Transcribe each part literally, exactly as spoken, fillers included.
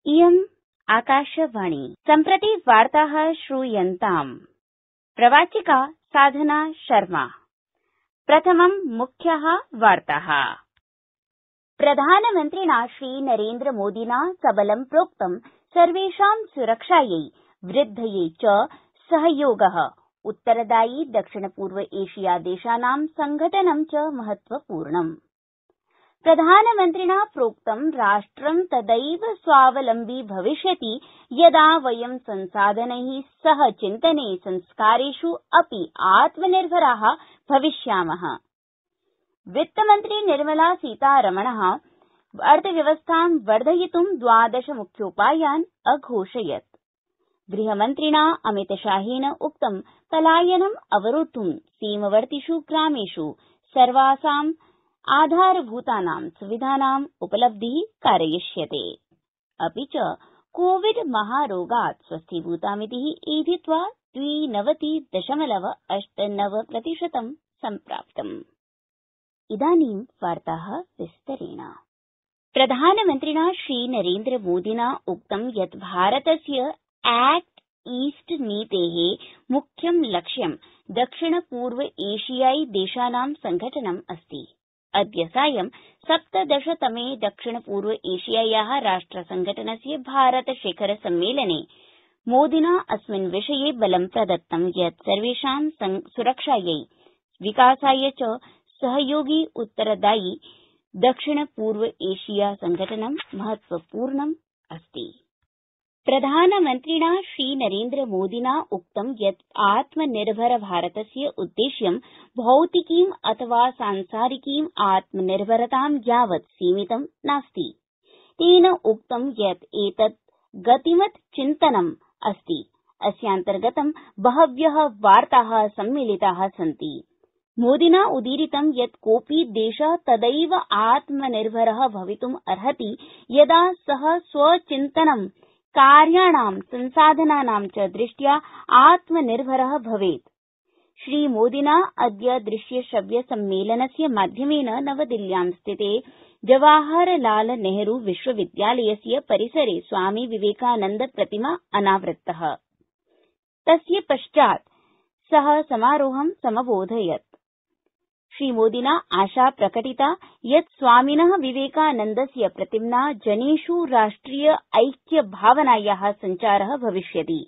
इयम् आकाशवाणी सम्प्रति वार्ताः श्रूयन्ताम्। प्रवाचिका साधना शर्मा। प्रथमम् मुख्याः वार्ताः। प्रधानमन्त्रिणा श्रीनरेन्द्र मोदिना सबलं प्रोक्तं सर्वेषां सुरक्षायै वृद्धये च सहयोगः उत्तरदायी दक्षिणपूर्व एशिया देशानां संघटनं च महत्वपूर्णम्। प्रधानमन्त्रिणा प्रोक्तं राष्ट्रं तदैव स्वावलम्बी भविष्यति यदा वयं संसाधनैः सह चिन्तने संस्कारेषु अपि आत्मनिर्भराः भविष्यामः। वित्तमन्त्री निर्मला सीतारमणः अर्थव्यवस्थां वर्धयितुं द्वादश मुख्योपायान् अघोषयत्। गृहमन्त्रिणा अमितशाहेन उक्तं पलायनम् अवरोद्धुं सीमवर्तिषु ग्रामेषु सर्वासाम् आधारभूतानां सुविधानाम् उपलब्धिः कारयिष्यते। अपि च कोविड महारोगात् स्वस्थीभूतामितिः एधित्वा द्विनवति दशमलव अष्ट नव प्रतिशतं सम्प्राप्तम्। इदानीं वार्ताः विस्तरेण। प्रधानमन्त्रिणा श्रीनरेन्द्र मोदिना उक्तं यत् भारतस्य एक्ट ईस्ट नीतेः मुख्यं लक्ष्यं दक्षिणपूर्व एशियाई देशानां संघटनम् अस्ति। अद्य सायं सप्तदशतमे दक्षिणपूर्व एशियायाः राष्ट्रसंघटनस्य भारत शिखर सम्मेलने मोदिना अस्मिन् विषये बलं प्रदत्तं यत् सर्वेषां सुरक्षायै विकासाय च सहयोगी उत्तरदायी दक्षिणपूर्व एशिया संघटनं महत्वपूर्णम् अस्ति। प्रधानमन्त्रिणा श्रीनरेन्द्र मोदिना उक्तं यत् आत्मनिर्भर भारतस्य उद्देश्यं भौतिकीम् अथवा सांसारिकीम् आत्मनिर्भरतां यावत् सीमितं नास्ति। तेन उक्तं यत् एतत् गतिमत् चिन्तनम् अस्ति। अस्यान्तर्गतं बहव्यः वार्ताः सम्मिलिताः सन्ति। मोदिना उदीरितं यत् कोऽपि देशः तदैव आत्मनिर्भरः भवितुम् अर्हति यदा सः स्वचिन्तनं कार्याणां संसाधनानां च दृष्ट्या आत्मनिर्भरः भवेत्। श्रीमोदिना अद्य दृश्यश्रव्य सम्मेलनस्य माध्यमेन नवदिल्ल्यां स्थिते जवाहरलाल नेहरू विश्वविद्यालयस्य परिसरे स्वामी विवेकानन्द प्रतिमा अनावृत्तः। तस्य पश्चात् सः समारोहं समबोधयत्। श्रीमोदिना आशा प्रकटिता यत् स्वामिनः विवेकानन्दस्य प्रतिम्ना जनेषु राष्ट्रिय ऐक्य भावनायाः सञ्चारः भविष्यति,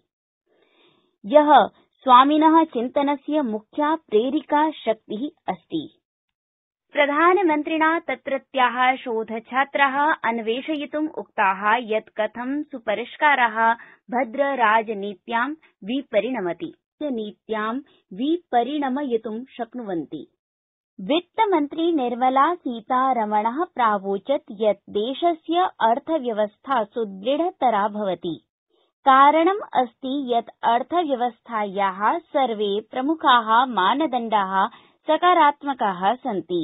यः स्वामिनः चिन्तनस्य मुख्या प्रेरिका शक्तिः अस्ति। प्रधानमन्त्रिणा तत्रत्याः शोधछात्राः अन्वेषयितुम् उक्ताः यत् कथं सुपरिष्काराः भद्रराजनीत्यां विपरिणमति नीत्यां विपरिणमयितुं शक्नुवन्ति। वित्तमन्त्री निर्मला सीतारमणः प्रावोचत् यत् देशस्य अर्थव्यवस्था सुदृढतरा भवति। कारणम् अस्ति यत् अर्थव्यवस्थायाः सर्वे प्रमुखाः मानदण्डाः सकारात्मकाः सन्ति।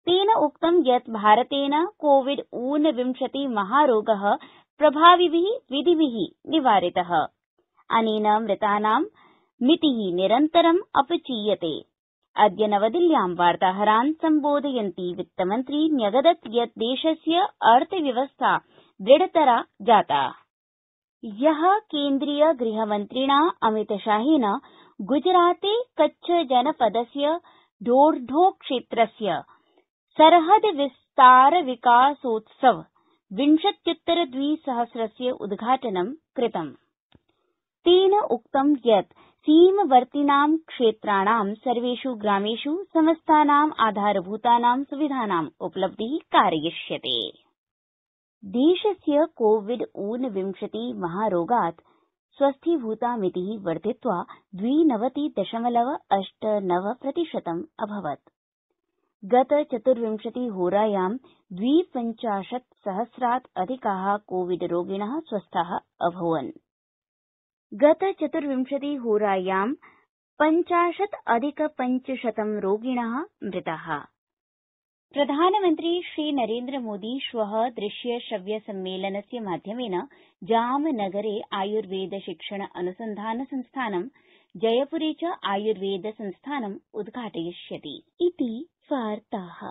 तेन उक्तं यत् भारतेन कोविड ऊनविंशति महारोगः प्रभाविभिः विधिभिः निवारितः। अनेन मृतानां मितिः निरन्तरम् अपचीयते। अद्य नवदिल्ल्यां वार्ताहरान् सम्बोधयन्ती वित्तमन्त्री न्यगदत् यत् देशस्य अर्थव्यवस्था दृढतरा जाता। ह्यः केन्द्रीय गृहमन्त्रिणा अमितशाहेन गुजराते कच्छ जनपदस्य ढोरढो क्षेत्रस्य सरहद विस्तार विकासोत्सव विंशत्युत्तर द्विसहस्रस्य उद्घाटनं कृतम्। तेन उक्तं यत् सीमवर्तिनां क्षेत्राणां सर्वेषु ग्रामेषु समस्तानाम् आधारभूतानां सुविधानाम् उपलब्धिः कारयिष्यते। देशस्य कोविड ऊनविंशति महारोगात् स्वस्थीभूता मितिः वर्धित्वा द्विनवति दशमलव अष्ट नव प्रतिशतम् अभवत्। गत चतुर्विंशति होरायां द्विपञ्चाशत् सहस्रात् अधिकाः कोविड रोगिणः स्वस्थाः अभूवन्। गत चतुर्विंशति होरायां पञ्चाशत् अधिक पञ्चशतं रोगिणः मृताः। प्रधानमन्त्री श्रीनरेन्द्र मोदी श्वः दृश्य श्रव्य सम्मेलनस्य माध्यमेन जामनगरे आयुर्वेद शिक्षण अनुसन्धान संस्थानं जयपुरे च आयुर्वेद संस्थानम् उद्घाटयिष्यति इति वार्ताः।